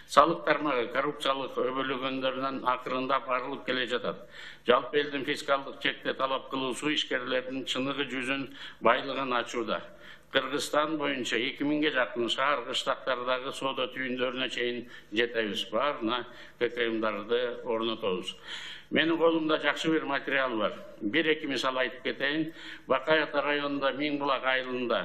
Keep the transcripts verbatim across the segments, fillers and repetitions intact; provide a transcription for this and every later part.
Салык тармагы коррупциялык өбөлгөндөрдөн акырындап арылып келе жатат. Жалпы элдин фискалдык чекти талап кылуусу ишкерлердин чыныгы жүзүн байлыгын ачууда. Кыргызстан боюнча эки миңге жакын шаар кыштактардагы соода түйүндөрүнө чейин жетебиз. Баарына ККМдарды орнотобуз. Менин колумда жакшы бир материал бар. Бир-эки мисал айтып кетейин. Бакай Ата районунда Миң булак айылында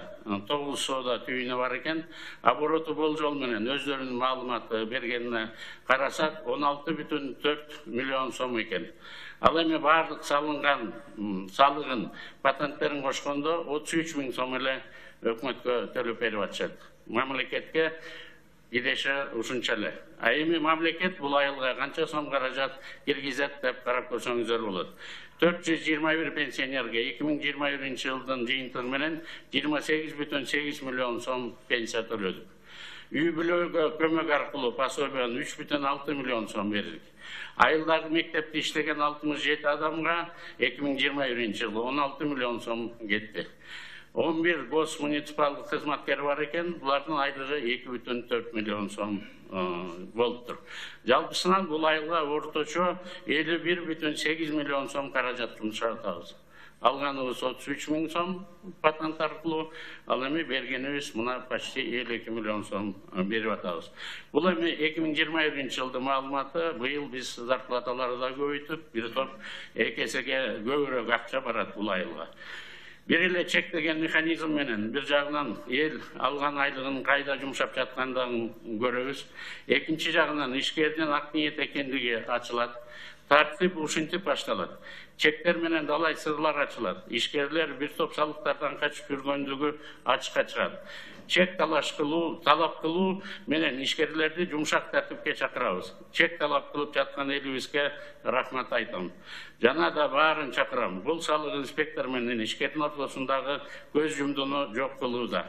тогуз соода түйүнү бар экен. Обороту болжол менен өздөрүнүн маалыматы бергенине карасак он алты бүтүн төрт миллион сом экен. Ал эми баардык салынган салыгын, патенттерин кошкондо отуз үч миң сом эле өкмөткө төлөп берип атышат. Мамлекетке идеше ушунча эле. А эми мамлекет бул айылга канча сом каражат киргизет деп карап көрсөңүздөр болот. төрт жүз жыйырма бир пенсионерге эки миң жыйырма биринчи жылдын жыйынтыгы менен жыйырма сегиз бүтүн сегиз миллион сом пенсия төлөдүк. Үй бүлөгө көмөк аркылуу пособияны үч бүтүн алты миллион сом бердик. Айылдагы мектепте иштеген алтымыш жети адамга эки миң жыйырма биринчи жылы он алты миллион сом кетти. он бир гос муниципалдык кызматкер бар экен, булардын айлыгы эки бүтүн төрт миллион сом болуптур. Жалпысынан бул айылга орточо элүү бир бүтүн сегиз миллион сом каражат жумшатабыз. Алганыбыз отуз үч миң сом патент аркылуу, ал эми бергенибиз мына почти элүү эки миллион сом берип атабыз. Бул эми эки миң жыйырма биринчи жылдын маалыматы. Быйыл биз зарплаталарды да көбөйтүп, бир топ эки эсеге көбүрөөк акча барат бул айылга. Бир эле чектеген механизм менен бир жагынан эл алган айлыгын кайда жумшап жаткандыгын көрөбүз. Экинчи жагынан ишкердин ак ниет экендиги ачылат. Тартип ушинтип башталат. Чектер менен далай сырлар ачылат. Ишкерлер бир топ салыктардан качып жүргөндүгү ачыкка чыгат. Чек талаш кылуу, талап кылуу менен ишкерлерди жумшак тартипке чакырабыз. Чек талап кылып жаткан элибизге рахмат айтам. Жана да баарын чакырам. Бул салык инспектор менен ишкердин ортосундагы көз жумдууну жок кылууда.